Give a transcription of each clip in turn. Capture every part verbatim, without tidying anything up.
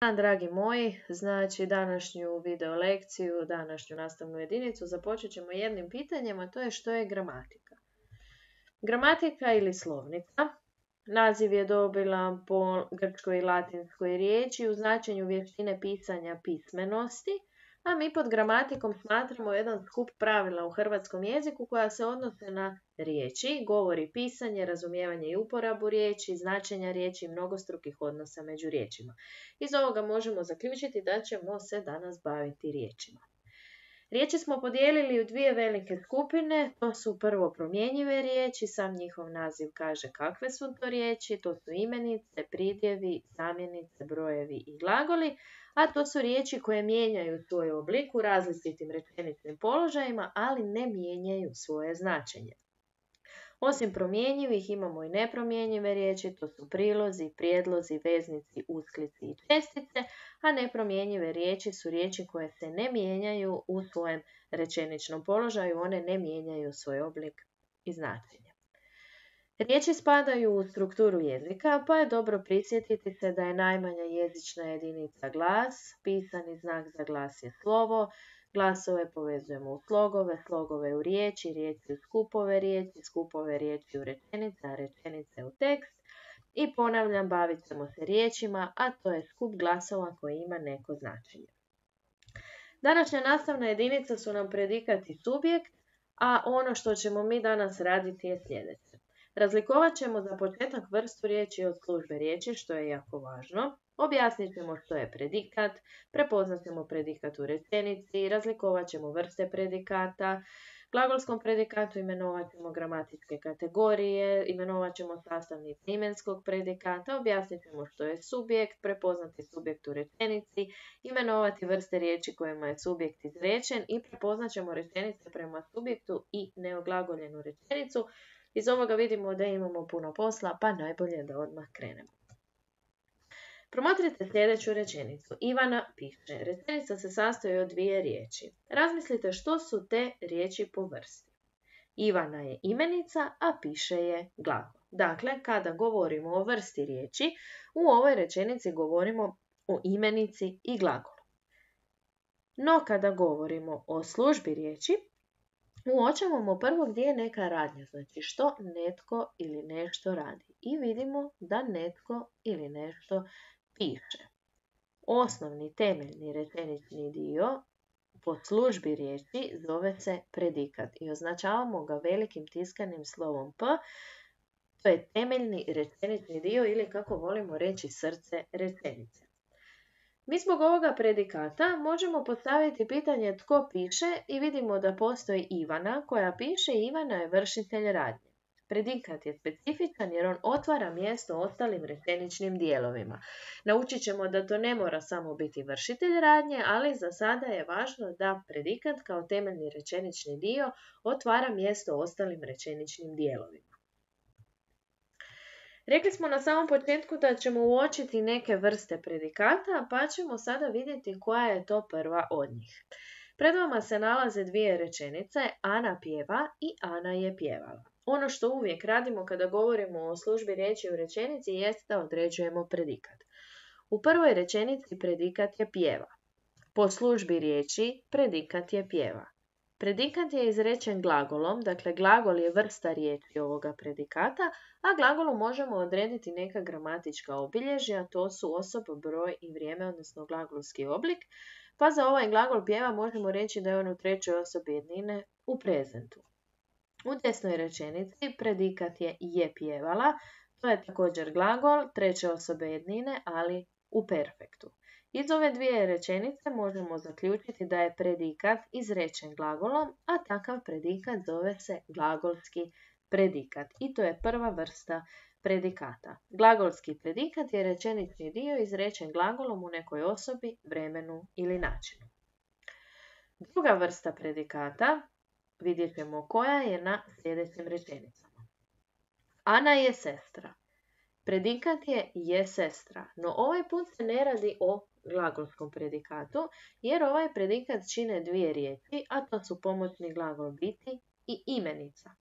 Dan, dragi moji, znači današnju video lekciju, današnju nastavnu jedinicu započet ćemo jednim pitanjem, a to je što je gramatika. Gramatika ili slovnica, naziv je dobila po grčkoj i latinskoj riječi u značenju vještine pisanja pismenosti, a mi pod gramatikom smatramo jedan skup pravila u hrvatskom jeziku koja se odnose na riječi, govor i pisanje, razumijevanje i uporabu riječi, značenja riječi i mnogostrukih odnosa među riječima. Iz ovoga možemo zaključiti da ćemo se danas baviti riječima. Riječi smo podijelili u dvije velike skupine, to su prvo promjenjive riječi, sam njihov naziv kaže kakve su to riječi, to su imenice, pridjevi, zamjenice, brojevi i glagoli, a to su riječi koje mijenjaju svoj oblik u različitim rečeničnim položajima, ali ne mijenjaju svoje značenje. Osim promjenjivih imamo i nepromjenjive riječi, to su prilozi, prijedlozi, veznici, usklici i čestice, a nepromjenjive riječi su riječi koje se ne mijenjaju u svojem rečeničnom položaju, one ne mijenjaju svoj oblik i značenje. Riječi spadaju u strukturu jezika, pa je dobro prisjetiti se da je najmanja jezična jedinica glas, pisani znak za glas je slovo, glasove povezujemo u slogove, slogove u riječi, riječi u skupove riječi, skupove riječi u rečenice, a rečenice u tekst. I ponavljam, bavit ćemo se riječima, a to je skup glasova koji ima neko značenje. Današnja nastavna jedinica su nam predikat i subjekt, a ono što ćemo mi danas raditi je sljedeće. Razlikovat ćemo za početak vrstu riječi od službe riječi, što je jako važno. Objasnit ćemo što je predikat, prepoznat ćemo predikat u rečenici, razlikovat ćemo vrste predikata, glagolskom predikatu imenovat ćemo gramatičke kategorije, imenovat ćemo sastavnice imenskog predikata, objasnit ćemo što je subjekt, prepoznati subjekt u rečenici, imenovati vrste riječi kojima je subjekt izrečen i prepoznat ćemo rečenice prema subjektu i neoglagoljenu rečenicu. Iz ovoga vidimo da imamo puno posla, pa najbolje da odmah krenemo. Promotrite sljedeću rečenicu. Ivana piše. Rečenica se sastoji od dvije riječi. Razmislite što su te riječi po vrsti. Ivana je imenica, a piše je glagol. Dakle, kada govorimo o vrsti riječi, u ovoj rečenici govorimo o imenici i glagolu. No, kada govorimo o službi riječi, uočavamo prvo gdje je neka radnja, znači što netko ili nešto radi. I vidimo da netko ili nešto piše. Osnovni temeljni rečenični dio po službi riječi zove se predikat i označavamo ga velikim tiskanim slovom P. To je temeljni rečenični dio ili kako volimo reći srce rečenice. Mi zbog ovoga predikata možemo postaviti pitanje tko piše i vidimo da postoji Ivana koja piše i Ivana je vršitelj radnje. Predikat je specifičan jer on otvara mjesto ostalim rečeničnim dijelovima. Naučit ćemo da to ne mora samo biti vršitelj radnje, ali za sada je važno da predikat kao temeljni rečenični dio otvara mjesto ostalim rečeničnim dijelovima. Rekli smo na samom početku da ćemo uočiti neke vrste predikata, pa ćemo sada vidjeti koja je to prva od njih. Pred vama se nalaze dvije rečenice, Ana pjeva i Ana je pjevala. Ono što uvijek radimo kada govorimo o službi riječi u rečenici jest da određujemo predikat. U prvoj rečenici predikat je pjeva. Po službi riječi predikat je pjeva. Predikat je izrečen glagolom, dakle glagol je vrsta riječi ovoga predikata, a glagolu možemo odrediti neka gramatička obilježja, to su osoba, broj i vrijeme, odnosno glagolski oblik, pa za ovaj glagol pjeva možemo reći da je on u trećoj osobi jednine u prezentu. U desnoj rečenici predikat je je pjevala, to je također glagol treće osobe jednine, ali u perfektu. Iz ove dvije rečenice možemo zaključiti da je predikat izrečen glagolom, a takav predikat zove se glagolski predikat i to je prva vrsta predikata. Glagolski predikat je rečenični dio izrečen glagolom u nekoj osobi, vremenu ili načinu. Druga vrsta predikata, vidjet ćemo koja je na sljedećim rečenicama. Ana je sestra. Predikat je je sestra, no ovaj put se ne radi o glagolskom predikatu, jer ovaj predikat čine dvije riječi, a to su pomoćni glagol biti i imenica.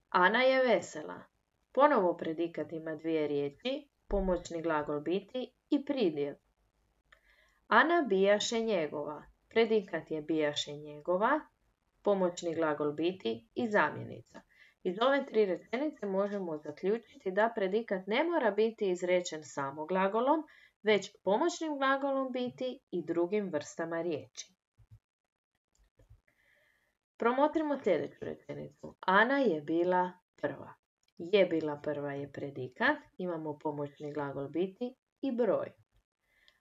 Ana je vesela. Ponovo predikat ima dvije riječi, pomoćni glagol biti i pridjev. Ana bijaše njegova. Predikat je bijaše njegova, pomoćni glagol biti i zamjenica. Iz ove tri rečenice možemo zaključiti da predikat ne mora biti izrečen samo glagolom, već pomoćnim glagolom biti i drugim vrstama riječi. Promotrimo sljedeću rečenicu. Ana je bila prva. Je bila prva je predikat, imamo pomoćni glagol biti i broj.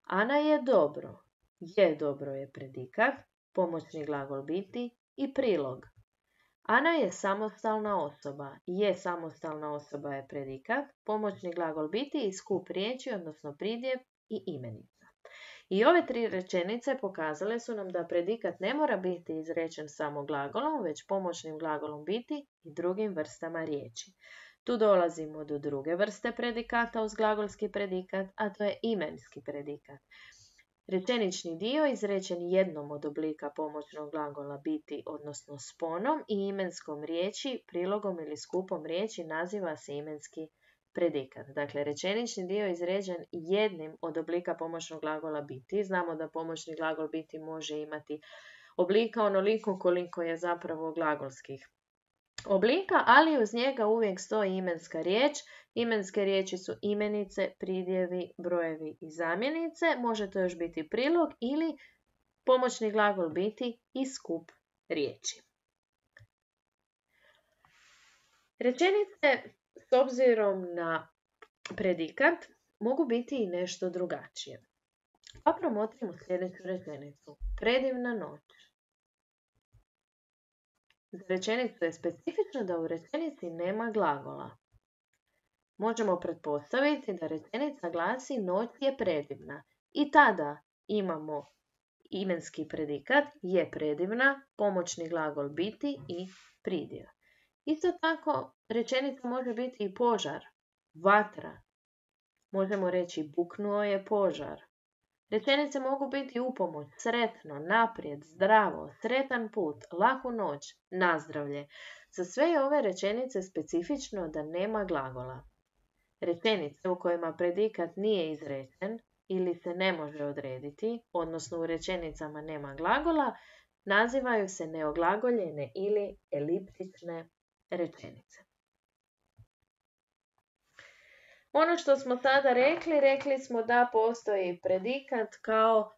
Ana je dobro. Je dobro je predikat, pomoćni glagol biti i prilog. Ana je samostalna osoba. Je samostalna osoba je predikat, pomoćni glagol biti i skup riječi, odnosno pridjev i imenica. I ove tri rečenice pokazale su nam da predikat ne mora biti izrečen samo glagolom, već pomoćnim glagolom biti i drugim vrstama riječi. Tu dolazimo do druge vrste predikata uz glagolski predikat, a to je imenski predikat. Rečenični dio izrečen jednom od oblika pomoćnog glagola biti, odnosno sponom, i imenskom riječi, prilogom ili skupom riječi naziva se imenski predikat. Dakle, rečenični dio izrečen jednim od oblika pomoćnog glagola biti. Znamo da pomoćni glagol biti može imati oblika onoliko koliko je zapravo glagolskih oblika, ali uz njega uvijek stoji imenska riječ. Imenske riječi su imenice, pridjevi, brojevi i zamjenice. Može to još biti prilog ili pomoćni glagol biti i skup riječi. Rečenice s obzirom na predikat mogu biti i nešto drugačije. Pa promotrimo sljedeću rečenicu. Predivna noć. Za rečenicu je specifično da u rečenici nema glagola. Možemo pretpostaviti da rečenica glasi noć je predivna i tada imamo imenski predikat je predivna, pomoćni glagol biti i pridjev. Isto tako rečenica može biti i požar, vatra. Možemo reći buknuo je požar. Rečenice mogu biti upomoć, sretno, naprijed, zdravo, sretan put, laku noć, nazdravlje. Za sve ove rečenice specifično da nema glagola. Rečenice u kojima predikat nije izrečen ili se ne može odrediti, odnosno u rečenicama nema glagola, nazivaju se neoglagoljene ili eliptične rečenice. Ono što smo sada rekli, rekli smo da postoji predikat kao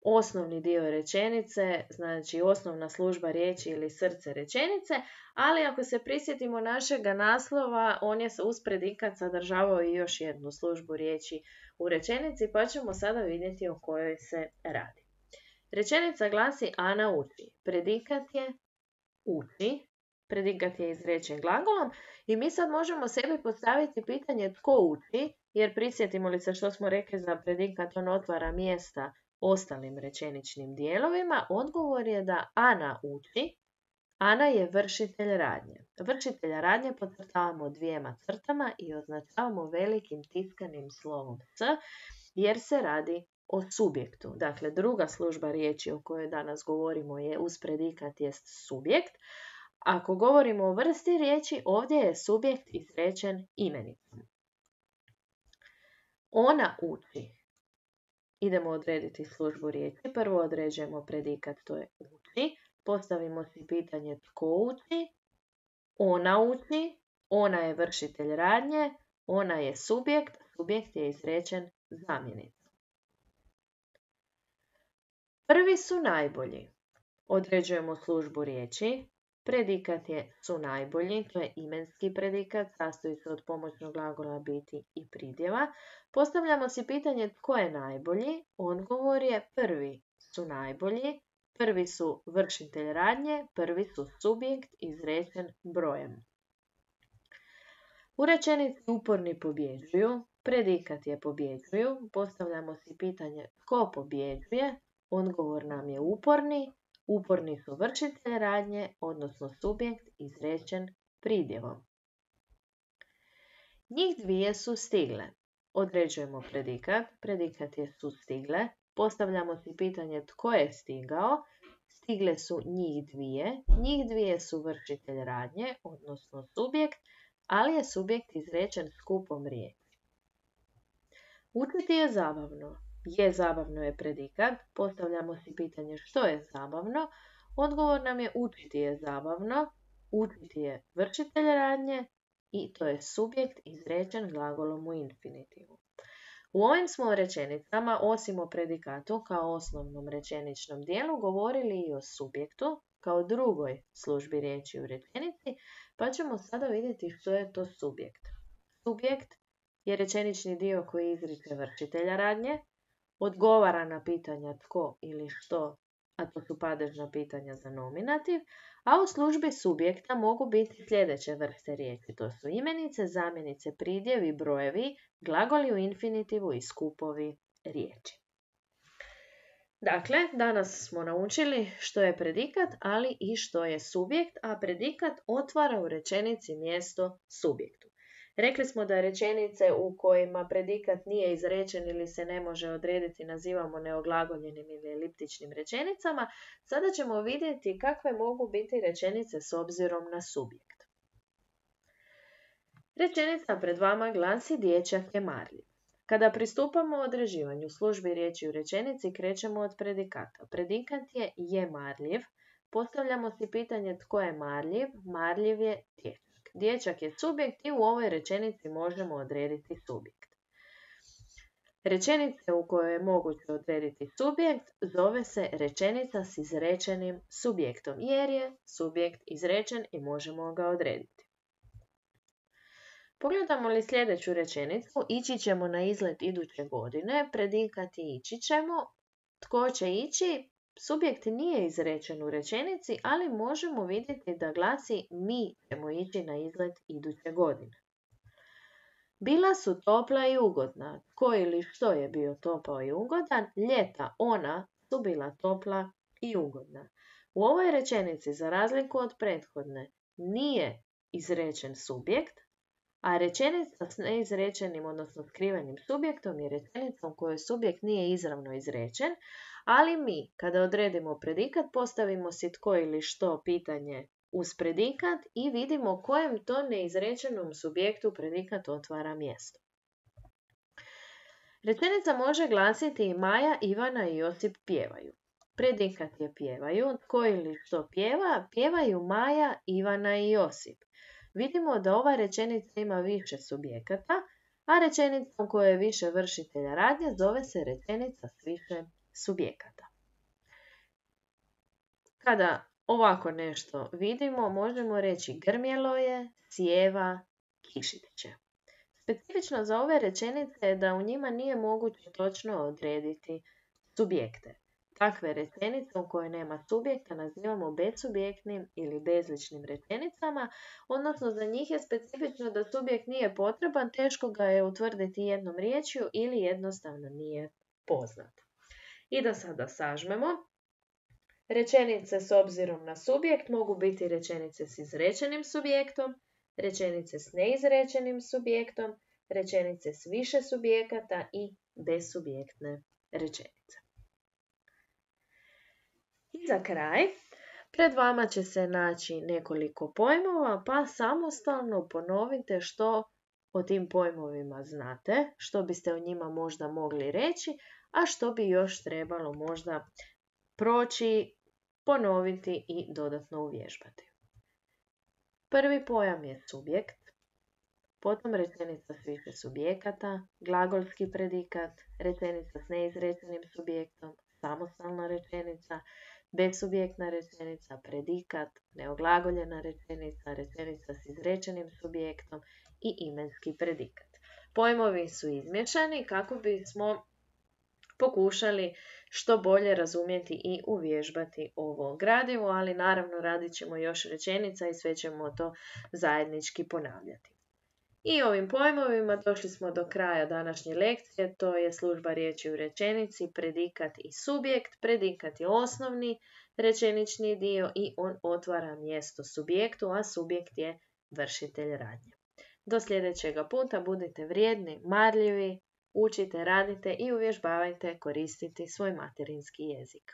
osnovni dio rečenice, znači osnovna služba riječi ili srce rečenice, ali ako se prisjetimo našega naslova, on je uz predikat sadržavao i još jednu službu riječi u rečenici, pa ćemo sada vidjeti o kojoj se radi. Rečenica glasi Ana uči. Predikat je uči. Predikat je izrečen glagolom i mi sad možemo sebi postaviti pitanje tko uči, jer prisjetimo li se što smo rekli za predikat, on otvara mjesta ostalim rečeničnim dijelovima. Odgovor je da Ana uči. Ana je vršitelj radnje. Vršitelja radnje podcrtavamo dvijema crtama i označavamo velikim tiskanim slovom S, jer se radi o subjektu. Dakle, druga služba riječi o kojoj danas govorimo je uz predikat jest subjekt. Ako govorimo o vrsti riječi, ovdje je subjekt izrečen imenicom. Ona uči. Idemo odrediti službu riječi. Prvo određujemo predikat, to je uči. Postavimo si pitanje tko uči. Ona uči. Ona je vršitelj radnje. Ona je subjekt. Subjekt je izrečen zamjenicom. Prvi su najbolji. Određujemo službu riječi. Predikat je su najbolji, to je imenski predikat, sastoji se od pomoćnog glagola biti i pridjeva. Postavljamo si pitanje tko je najbolji, odgovor je prvi su najbolji, prvi su vršitelj radnje, prvi su subjekt izrečen brojem. U rečenici uporni pobjeđuju, predikat je pobjeđuju, postavljamo si pitanje tko pobjeđuje, odgovor nam je uporni. Uporni su vršitelj radnje, odnosno subjekt izrečen pridjevom. Njih dvije su stigle. Određujemo predikat. Predikat je su stigle. Postavljamo si pitanje tko je stigao. Stigle su njih dvije. Njih dvije su vršitelj radnje, odnosno subjekt, ali je subjekt izrečen skupom riječi. Učiti je zabavno. Je zabavno je predikat. Postavljamo si pitanje što je zabavno. Odgovor nam je učiti je zabavno. Učiti je vršitelj radnje i to je subjekt izrečen glagolom u infinitivu. U ovim smo rečenicama, osim o predikatu kao osnovnom rečeničnom dijelu, govorili i o subjektu kao drugoj službi riječi u rečenici, pa ćemo sada vidjeti što je to subjekt. Subjekt je rečenični dio koji izriče vršitelja radnje, odgovara na pitanja tko ili što, a to su padežna pitanja za nominativ, a u službi subjekta mogu biti sljedeće vrste riječi. To su imenice, zamjenice, pridjevi, brojevi, glagoli u infinitivu i skupovi riječi. Dakle, danas smo naučili što je predikat, ali i što je subjekt, a predikat otvara u rečenici mjesto subjektu. Rekli smo da rečenice u kojima predikat nije izrečen ili se ne može odrediti nazivamo neoglagoljenim ili eliptičnim rečenicama. Sada ćemo vidjeti kakve mogu biti rečenice s obzirom na subjekt. Rečenica pred vama glasi dječak je marljiv. Kada pristupamo određivanju službi riječi u rečenici, krećemo od predikata. Predikat je je marljiv. Postavljamo si pitanje tko je marljiv. Marljiv je dječak. Dječak je subjekt i u ovoj rečenici možemo odrediti subjekt. Rečenica u kojoj je moguće odrediti subjekt zove se rečenica s izrečenim subjektom, jer je subjekt izrečen i možemo ga odrediti. Pogledamo li sljedeću rečenicu, ići ćemo na izlet iduće godine, predikati ići ćemo, tko će ići, subjekt nije izrečen u rečenici, ali možemo vidjeti da glasi mi ćemo ići na izlet iduće godine. Bila su topla i ugodna, tko ili što je bio topao i ugodan, ljeta ona su bila topla i ugodna. U ovoj rečenici, za razliku od prethodne, nije izrečen subjekt, a rečenica s neizrečenim, odnosno skrivenim subjektom je rečenica u kojoj subjekt nije izravno izrečen, ali mi, kada odredimo predikat, postavimo si tko ili što pitanje uz predikat i vidimo kojem to neizrečenom subjektu predikat otvara mjesto. Rečenica može glasiti Maja, Ivana i Josip pjevaju. Predikat je pjevaju, tko ili što pjeva, pjevaju Maja, Ivana i Josip. Vidimo da ova rečenica ima više subjekata, a rečenica u kojoj je više vršitelja radnje zove se rečenica s više subjekata. Kada ovako nešto vidimo, možemo reći grmjelo je, sjeva, kišit će. Specifično za ove rečenice je da u njima nije moguće točno odrediti subjekte. Takve rečenice u kojoj nema subjekta nazivamo bezsubjektnim ili bezličnim rečenicama, odnosno za njih je specifično da subjekt nije potreban, teško ga je utvrditi jednom riječju ili jednostavno nije poznat. I da sada sažmemo. Rečenice s obzirom na subjekt mogu biti rečenice s izrečenim subjektom, rečenice s neizrečenim subjektom, rečenice s više subjekata i bezsubjektne rečenice. I za kraj, pred vama će se naći nekoliko pojmova, pa samostalno ponovite što o tim pojmovima znate, što biste o njima možda mogli reći, a što bi još trebalo možda proći, ponoviti i dodatno uvježbati. Prvi pojam je subjekt, potom rečenica s više subjekata, glagolski predikat, rečenica s neizrečenim subjektom, samostalna rečenica, bezsubjektna rečenica, predikat, neoglagoljena rečenica, rečenica s izrečenim subjektom i imenski predikat. Pojmovi su izmješani kako bismo pokušali što bolje razumjeti i uvježbati ovo gradivo, ali naravno radit ćemo još rečenica i sve ćemo to zajednički ponavljati. I ovim pojmovima došli smo do kraja današnje lekcije, to je služba riječi u rečenici, predikat i subjekt. Predikat je osnovni rečenični dio i on otvara mjesto subjektu, a subjekt je vršitelj radnje. Do sljedećega puta budite vrijedni, marljivi, učite, radite i uvježbavajte koristiti svoj materinski jezik.